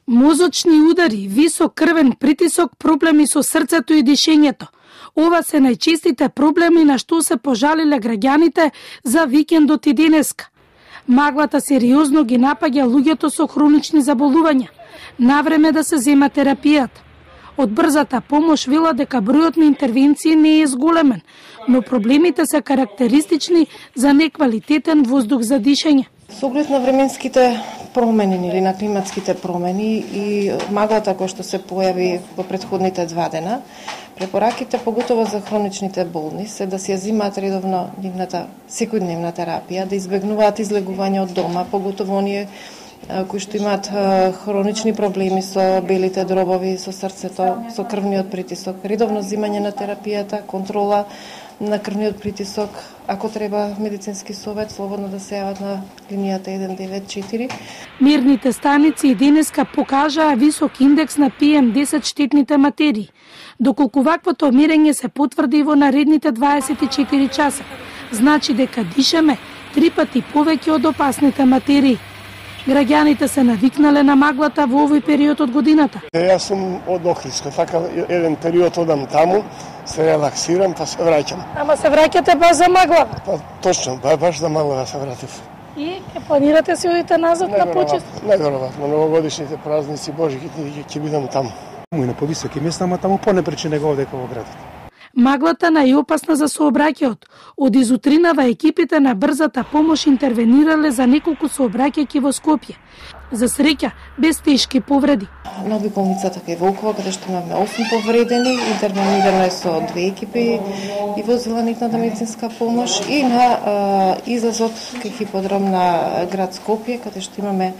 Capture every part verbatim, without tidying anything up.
Мозочни удари, висок крвен притисок, проблеми со срцето и дишењето. Ова се најчестите проблеми на што се пожалиле граѓаните за викендот и денеска. Маглата сериозно ги напаѓа луѓето со хронични заболувања. Навреме да се зема терапијата. Од брзата помош вела дека бројот на интервенции не е зголемен, но проблемите се карактеристични за неквалитетен воздух за дишење. Со оглед на временските промени или на климатските промени и маглата која што се појави во претходните два дена, препораките поготово за хроничните болни се да си ја земаат редовно нивната секојдневна терапија, да избегнуваат излегување од дома, поготово оние кои што имаат хронични проблеми со белите дробови, со срцето, со крвниот притисок, редовно земање на терапијата, контрола на крвниот притисок, ако треба медицински совет, слободно да се јават на линијата еден девет четири. Мерните станици и денеска покажаа висок индекс на пи ем десет штетните материи. Доколку ваквото мерење се потврди во наредните дваесет и четири часа, значи дека дишаме три пати повеќе од опасните материи. Граѓаните се навикнале на маглата во овој период од годината. Јас сум од Охридска, така еден период одам таму, се релаксирам, па се враќам. Ама се враќате баш за магла? Па точно, баш за магла се вратив. И ке планирате се одите назад на почест? Најверојатно, новогодишните празници, Божиките ќе бидам таму. Му и на повисоки места, ама таму понепречи него дека во градот. Маглата најопасна за сообраќајот. Од изутринава екипите на брзата помош интервенирале за неколку сообраќајки во Скопје. За среќа, без тешки повреди. На болницата кај Волкова, каде што имаме осум повредени, интервенирано е со две екипи и возила нитната медицинска помош, и на а, излазот кај хиподром на град Скопје, каде што имаме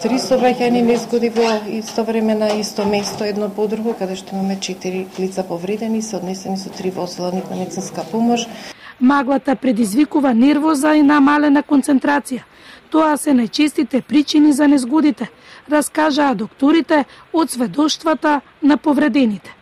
три сообраќајни незгоди во исто време на исто место, едно по друго, каде што имаме четири лица повредени, се однесени со три возила нитна медицинска помош. Маглата предизвикува нервоза и намалена концентрација. Тоа се најчестите причини за незгодите, раскажаа докторите од сведоштвата на повредените.